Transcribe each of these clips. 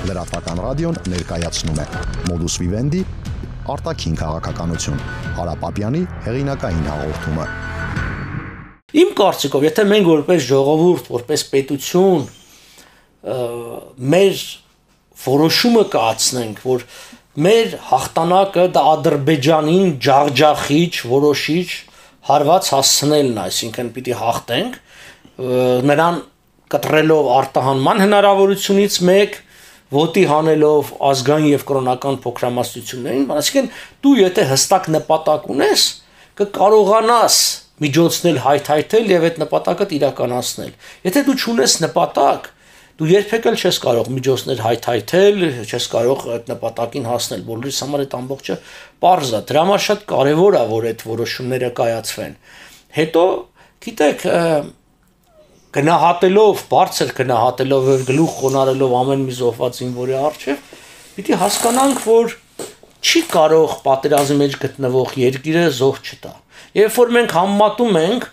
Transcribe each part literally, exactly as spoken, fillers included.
Լրատվական ռադիոն ներկայացնում է Modus Vivendi արտաքին քաղաքականություն Հարապապյանի հեղինակային հաղորդումը։ Իմ կարծիքով, եթե մենք որպես ժողովուրդ, որպես պետություն մեր որոշումը կայացնենք, որ մեր հաղթանակը դա Ադրբեջանին ջախջախիչ, որոշիչ հարված հասցնելն է, այսինքն պիտի հաղթենք, նրան կտրելով արտահանման հնարավորությունից մեկ, ոտի հանելով ազգային եւ կրոնական փոքրամասնություններին, այսինքն դու եթե հստակ նպատակ ունես, կկարողանաս միջոցնել հայթայթել եւ այդ նպատակը իրականացնել։ Եթե դու չունես նպատակ, դու երբեք էլ չես կարող միջոցներ հայթայթել, չես կարող այդ նպատակին հասնել։ Բոլորիս համար այդ ամբողջը պարզ է։ Դրա համար շատ կարեւոր է, որ այդ որոշումները կայացվեն։ Հետո, գիտեք, գնահատելով, բարձր գնահատելով եւ գլուխ խոնարելով ամեն մի զոհված զինվորի առջեւ, պիտի հասկանանք, որ չի կարող պատերազմի մեջ գտնվող երկիրը զոհ չտա։ Երբ որ մենք համեմատում ենք,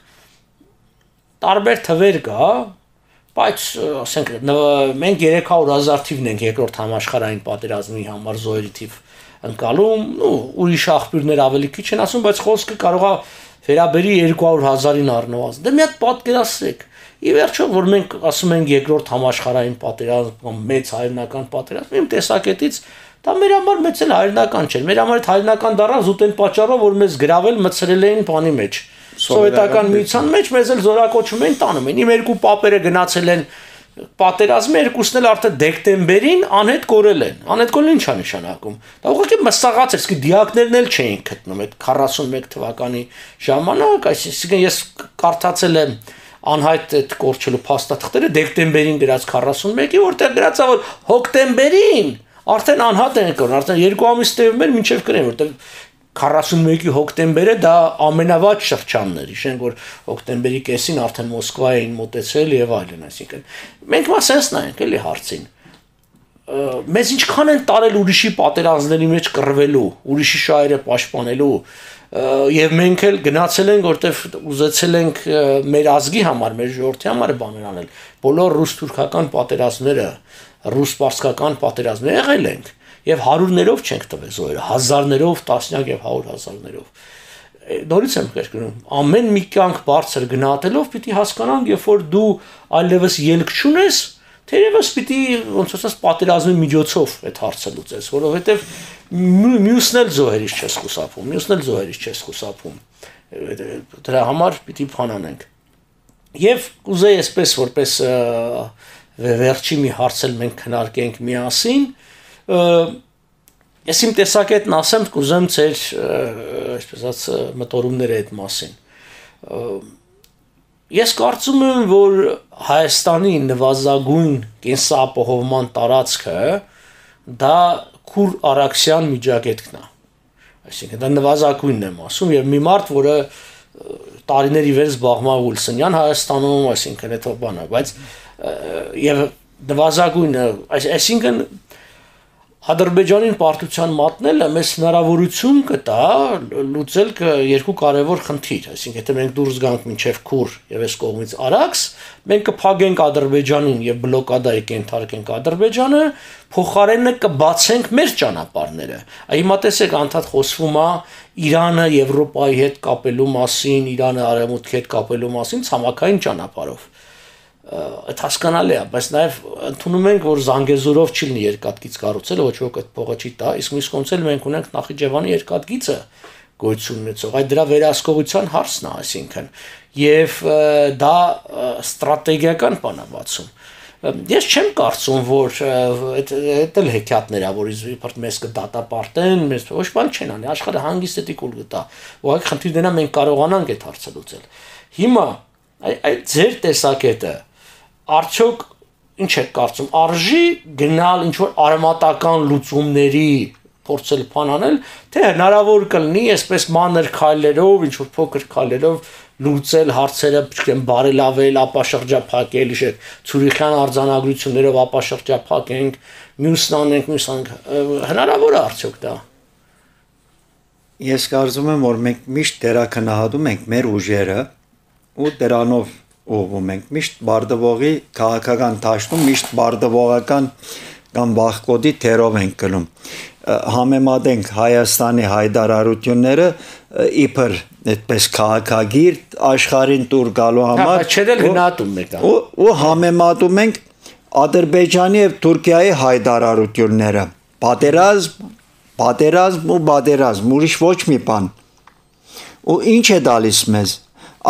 տարբեր թվեր կա, բայց ասենք մենք երեք հարյուր հազար թիվն ենք երկրորդ համաշխարհային պատերազմի համար զոհերի թիվ ընկալում, ու ուրիշ աղբյուրներ ավելի քիչ են ասում, բայց խոսքը կարող է վերաբերի երկու հարյուր հազարին առնվազն։ Դե մի հատ պատկերացրեք։ Ի վերջո, որ մենք ասում ենք երկրորդ համաշխարհային պատերազմ, մեծ հայրենական պատերազմ, իմ տեսակետից դա մեր համար մեծ էլ հայրենական չէր։ Մեր համար այդ հայրենական դառավ զուտ այն պատճառով, որ մեզ գրավել մցրել էին բանի մեջ։ Սովետական միության մեջ մեզ էլ զորակոչում էին տանում են։ Իմ երկու պապերը գնացել են պատերազմի, երկուսն էլ արդեն դեկտեմբերին անհետ կորել են։ Անհետ կորելը ինչ է նշանակում։ Դա ուղղակի մսաղաց էր, իսկ դիակներն էլ չէին գտնում այդ քառասունմեկ թվականի ժամանակ, այսինքն ես կարդացել եմ անհայտ այդ կորչելու փաստաթղթերը դեկտեմբերին գրած քառասունմեկի, որտեղ գրած է որ հոկտեմբերին արդեն անհատ են կորն, արդեն երկու ամիս տևում էր մինչև կրեն, որտեղ քառասունմեկի հոկտեմբերը դա ամենավատ շրջանն էր, հիշենք որ հոկտեմբերի կեսին արդեն Մոսկվա էին մոտեցել եւ այլն, այսինքն մենք մա սենս նայենք էլի հարցին։ Մեզ ինչքան են տարել ուրիշի պատերազմների մեջ կռվելու, ուրիշի շահերը պաշտպանելու, եւ մենք էլ գնացել ենք, որտեվ ուզեցել ենք մեր ազգի համար, մեր ժողովրդի համար բաներ անել։ Բոլոր ռուս-թուրքական պատերազմները, ռուս-պարսկական պատերազմները եղել ենք եւ հարյուրներով չենք տվել զոհերը, հազարներով, տասնյակ եւ հարյուր հազարներով։ Նորից եմ կրկնում, ամեն մի կյանք բարձր գնահատելով պիտի հասկանանք, երբ որ դու այլևս ելք չունես, թերևս պիտի ոնց ասած պատերազմի միջոցով այդ հարցը լուծես, որովհետեւ մյուսն էլ զոհերից չես խուսափում, մյուսն էլ զոհերից չես խուսափում։ Դրա համար պիտի փանանենք։ Եվ կուզեի այսպես որպես վերջի մի հարց էլ մենք քննարկենք միասին, ես իմ տեսակետն ասեմ, կուզեմ ձեր այսպես ասած մտորումները այդ մասին։ Ես կարծում եմ, որ Հայաստանի նվազագույն կենսապահովման տարածքը դա Քուր Արաքսյան միջագետքն է։ Այսինքն դա նվազագույնն եմ ասում եւ մի մարդ, որը տարիների վեր զբաղվում է Ուլսնյան Հայաստանում, այսինքն այդ բանը, բայց եւ նվազագույնը, այսինքն Ադրբեջանին պարտության մատնելը մեզ հնարավորություն կտա լուծել երկու կարևոր խնդիր, այսինքն եթե մենք դուրս գանք մինչև Քուր եւ այս կողմից Արաքս, մենք կփակենք Ադրբեջանին եւ բլոկադայի կենթարկենք Ադրբեջանը, փոխարենը կբացենք մեր ճանապարհները։ Հիմա տեսեք, անդադ խոսվում է Իրանը Եվրոպայի հետ կապելու մասին, Իրանը Արևմուտքի հետ կապելու մասին ցամաքային ճանապարհով։ Այդ հասկանալի է, բայց նաև ընդունում ենք, որ Զանգեզուրով չի լինի երկաթգիծ կառուցել, ոչ ոք այդ փողը չի տա, իսկ մյուս կողմից էլ մենք ունենք Նախիջևանի երկաթգիծը գոյություն ունեցող, այդ դրա վերահսկողության հարցն է, այսինքն, եւ դա ստրատեգիական բան է բացում։ Ես չեմ կարծում, որ այդ էլ հեքիաթներ է, որ իբր մեզ կդատապարտեն, մեզ ոչ բան չեն անի, աշխարհը հանգիստ էդի կուլ գտա։ Ուղղակի խնդիրն է մենք կարողանանք այդ հարցը լուծել։ Հիմա այդ ձեր տեսակետը արդյոք ինչ եք կարծում, արժի գնալ ինչ-որ արմատական լուծումների փորձել փանանել, թե հնարավոր կլինի այսպես մանր քայլերով, ինչ-որ փոքր քայլերով լուծել հարցերը, չգիտեմ, բարելավել, ապաշրջափակել, իշեք, Ցուրիխյան արձանագրություններով ապաշրջափակենք, մյուսն անենք, մյուս անենք, հնարավոր է արդյոք դա։ Ես կարծում եմ, որ մենք միշտ դերակնահատում ենք մեր ուժերը ու դրանով ուղղվում ենք միշտ բարդվողի քաղաքական դաշտում միշտ բարդվողական կամ վախկոդի թերով ենք գնում։ Համեմատենք Հայաստանի հայտարարությունները իբր այդպես քաղաքագիր աշխարհին տուր գալու համար չդել գնահատում եք ու համեմատում ենք Ադրբեջանի եւ Թուրքիայի հայտարարությունները պատերազմ պատերազմ ու պատերազմ ուրիշ ոչ մի բան ու ինչ է տալիս մեզ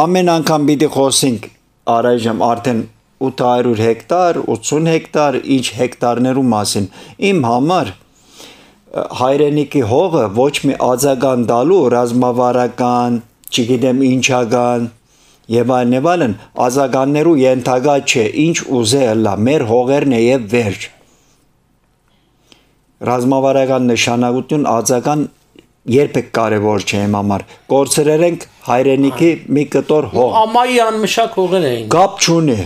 ամեն անգամ պիտի խոսենք առայժմ արդեն ութ հարյուր հեկտար ութսուն հեկտար ինչ հեկտարներու մասին իմ համար հայրենիքի հողը ոչ մի ածական տալու ռազմավարական, չգիտեմ ինչական եւ այլն եւ այլն ածականներու ենթակա չէ, ինչ ուզել լա, մեր հողերն է եւ վերջ։ Ռազմավարական նշանակություն ածական երբեք կարևոր չէ իմ համար։ Կորցրել ենք հայրենիքի մի կտոր հող։ Ամայի անմշակ հողեր էին։ Կապ չունի։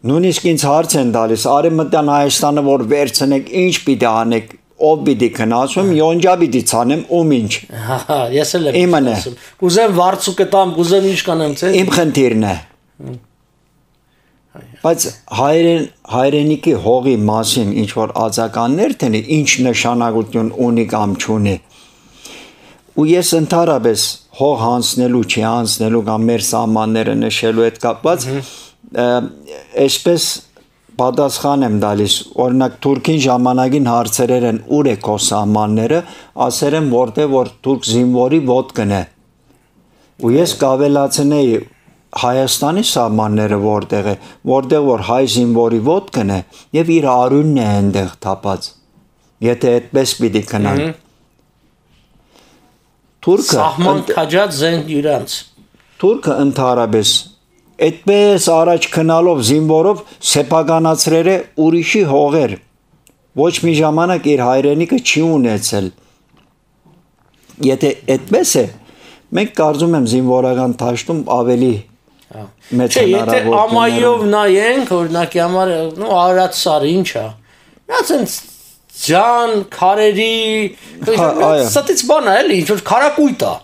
Նույնիսկ ինձ հարց են տալիս, Արևմտյան Հայաստանը որ վերցնեք, ինչ պիտի անեք։ Ով պիտի քնացում, յոնջա պիտի ցանեմ ում ինչ։ Հա, ես էլ եմ ասում։ Կուզեմ վարձուկը տամ, կուզեմ ինչ կանեմ, չէ՞։ Իմ խնդիրն է։ Բայց հայրեն հայրենիքի հողի մասին ինչ որ ածականներ տենի, ինչ նշանակություն ունի կամ չունի։ Ու ես ընդհանրապես հող հանձնելու, չի հանձնելու կամ մեր սահմանները նշելու հետ կապված, այսպես պատասխան եմ տալիս, օրինակ Թուրքին ժամանակին հարցերեր են ուր է քո սահմանները, ասել եմ որտեղ որ թուրք զինվորի ոտքն է։ Ու ես կավելացնեի Հայաստանի սահմանները որտեղ է, որտեղ որ հայ զինվորի ոտքն է եւ իր արյունն է այնտեղ թափած։ Եթե այդպես պիտի քնան։ Թուրքը սահման քաջած զենք իրանց։ Թուրքը ընդհանրապես այդպես առաջ քնալով զինվորով սեփականացրել է ուրիշի հողեր ոչ մի ժամանակ իր հայրենիքը չի ունեցել եթե այդպես է մենք կարծում եմ զինվորական դաշտում ավելի մեծ հնարավորություն եթե ամայով նայենք օրինակի համար նո Արարատ սարը ինչ է նա ցենց ջան քարերի սատից բան է էլի ինչ որ քարակույտ է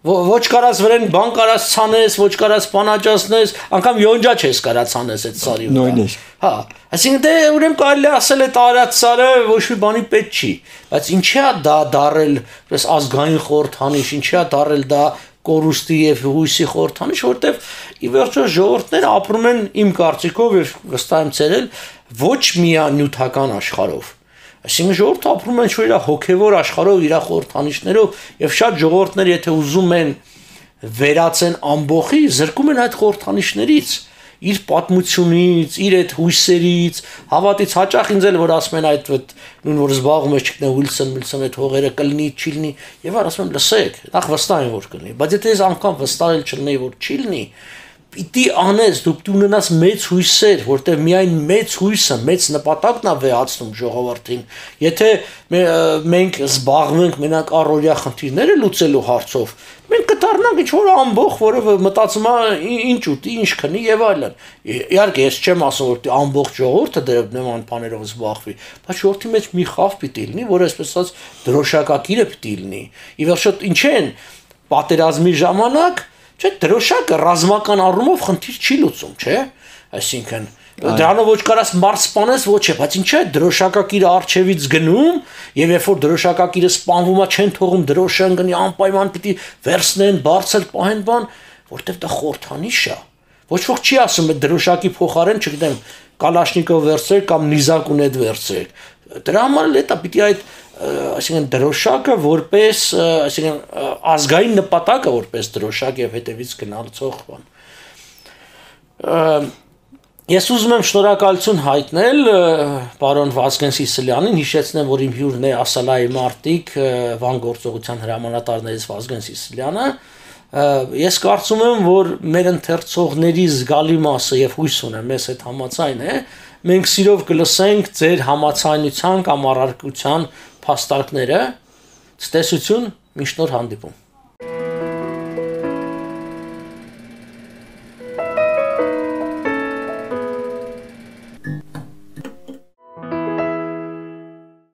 ոչ կարաս վրեն բան կարաս ցանես, ոչ կարաս բանաճացնես, անգամ յոնջա չես կարաս ցանես այդ սարի վրա։ Նույնիսկ։ Հա, այսինքն դե ուրեմն կարելի ասել է տարած սարը ոչ մի բանի պետք չի, բայց ինչի է դա դարել, պես ազգային խորհրդանիշ, ինչի է դարել դա կորուստի եւ հույսի խորհրդանիշ, որտեվ ի վերջո ժողովուրդները ապրում են իմ կարծիքով եւ վստահ եմ ցերել ոչ միանյութական աշխարհով։ Այսինքն ժողովուրդը ապրում են իր հոգևոր աշխարհով, իր խորհրդանիշներով եւ շատ ժողովուրդներ եթե ուզում են վերացեն ամբողի, զրկում են այդ խորհրդանիշներից, իր պատմությունից, իր այդ հույսերից, հավատից հաճախ ինձ էլ որ ասում են այդ նույն որ զբաղվում է չգիտեմ Ուիլսոն, Միլսոն այդ հողերը կլինի, չի լինի, եւ ասում եմ լսեք, նախ վստահ եմ որ կլինի, բայց եթե ես անգամ վստահել չլինեի որ չի լինի, պիտի անես, դու պիտի ունենաս մեծ հույսեր, որտեղ միայն մեծ հույսը, մեծ նպատակն է վեհացնում ժողովրդին։ Եթե մենք զբաղվենք մենակ առօրյա խնդիրները լուծելու հարցով, մենք կդառնանք ինչ-որ ամբողջ, որը մտածում է ինչ ուտի, ինչ քնի եւ այլն։ Իհարկե, ես չեմ ասում, որ ամբողջ ժողովուրդը դեռ նման բաներով զբաղվի, բայց ժողովրդի մեջ մի խավ պիտի լինի, որը այսպես ասած դրոշակակիրը պիտի լինի։ Ի վերջո ինչ են պատերազմի ժամանակ Չէ, դրոշակը ռազմական առումով խնդիր չի լուծում, չէ՞։ Այսինքն դրանով ոչ կարաս մարդ սպանես, ոչ է, բայց ինչ է դրոշակակիրը արչևից գնում, եւ երբ որ դրոշակակիրը սպանվում է, չեն թողում դրոշը ընկնի, անպայման պիտի վերցնեն, բարձր պահեն բան, որտեվ դա խորհրդանիշ է։ Ոչ ոք չի ասում այդ դրոշակի փոխարեն, չգիտեմ, կալաշնիկով վերցրեք կամ նիզակ ունեդ վերցրեք։ Դրա համար էլ դա պիտի այդ այսինքն դրոշակը որպես այսինքն ազգային նպատակը որպես դրոշակ եւ հետևից գնալցող բան։ Ես ուզում եմ շնորհակալություն հայտնել պարոն Վազգեն Սիսիլյանին, հիշեցնեմ, որ իմ հյուրն է Ասալայի մարտիկ Վան գործողության հրամանատարներից Վազգեն Սիսիլյանը։ Ես կարծում եմ, որ մեր ընթերցողների զգալի մասը եւ հույս ունեմ, մեզ այդ համաձայն է, մենք սիրով կլսենք ձեր համաձայնության կամ առարկության փաստարկները, ցտեսություն, միշտ նոր հանդիպում։